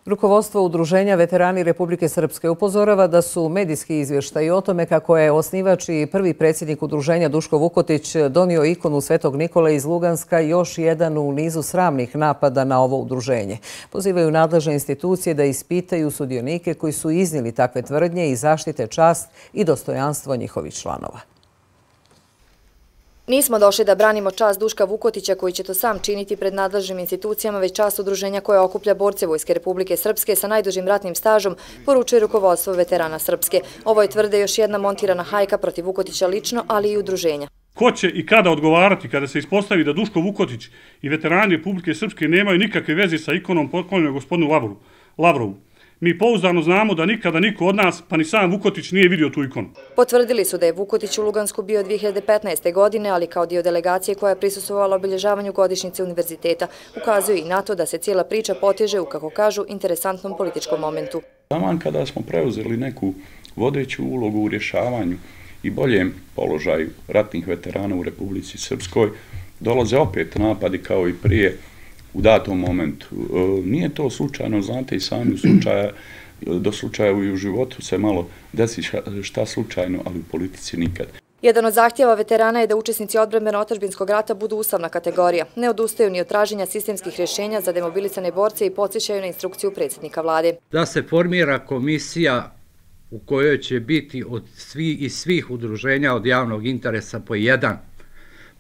Rukovodstvo Udruženja Veterani Republike Srpske upozorava da su medijski izvještaji o tome kako je osnivač i prvi predsjednik udruženja Duško Vukotić donio ikonu Svetog Nikole iz Luganska još jedan u nizu sramnih napada na ovo udruženje. Pozivaju nadležne institucije da ispitaju sudionike koji su iznijeli takve tvrdnje i zaštite čast i dostojanstvo njihovih članova. Nismo došli da branimo čast Duška Vukotića koji će to sam činiti pred nadležnim institucijama, već čast udruženja koje okuplja borce Vojske Republike Srpske sa najdužim ratnim stažom, poručuje rukovodstvo Veterana Srpske. Ovo je, tvrde, još jedna montirana hajka protiv Vukotića lično, ali i udruženja. Ko će i kada odgovarati kada se ispostavi da Duško Vukotić i veterani Republike Srpske nemaju nikakve veze sa ikonom poklonjenom gospodinu Lavrovu? Mi pouzdano znamo da nikada niko od nas, pa ni sam Vukotić, nije vidio tu ikonu. Potvrdili su da je Vukotić u Lugansku bio 2015. godine, ali kao dio delegacije koja je prisustvovala obilježavanju godišnjice univerziteta. Ukazuju i na to da se cijela priča poteže u, kako kažu, interesantnom političkom momentu. Taman kada smo preuzeli neku vodeću ulogu u rješavanju i boljem položaju ratnih veterana u Republici Srpskoj, dolaze opet napadi kao i prije u datom momentu. Nije to slučajno, znate i sami, do slučaja i u životu se malo desi šta slučajno, ali u politici nikad. Jedan od zahtjeva veterana je da učesnici odbrambeno-otadžbinskog rata budu ustavna kategorija. Ne odustaju ni od traženja sistemskih rješenja za demobilisane borce i podsjećaju na instrukciju predsjednika vlade. Da se formira komisija u kojoj će biti iz svih udruženja od javnog interesa po jedan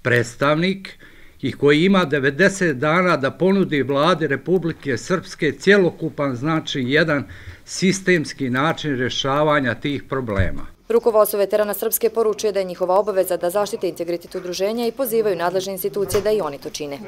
predstavnik i koji ima 90 dana da ponudi vladi Republike Srpske cjelokupan, znači jedan sistemski način rješavanja tih problema. Rukovodstvo Veterana Srpske poručuje da je njihova obaveza da zaštite integritet udruženja i pozivaju nadležne institucije da i oni to čine.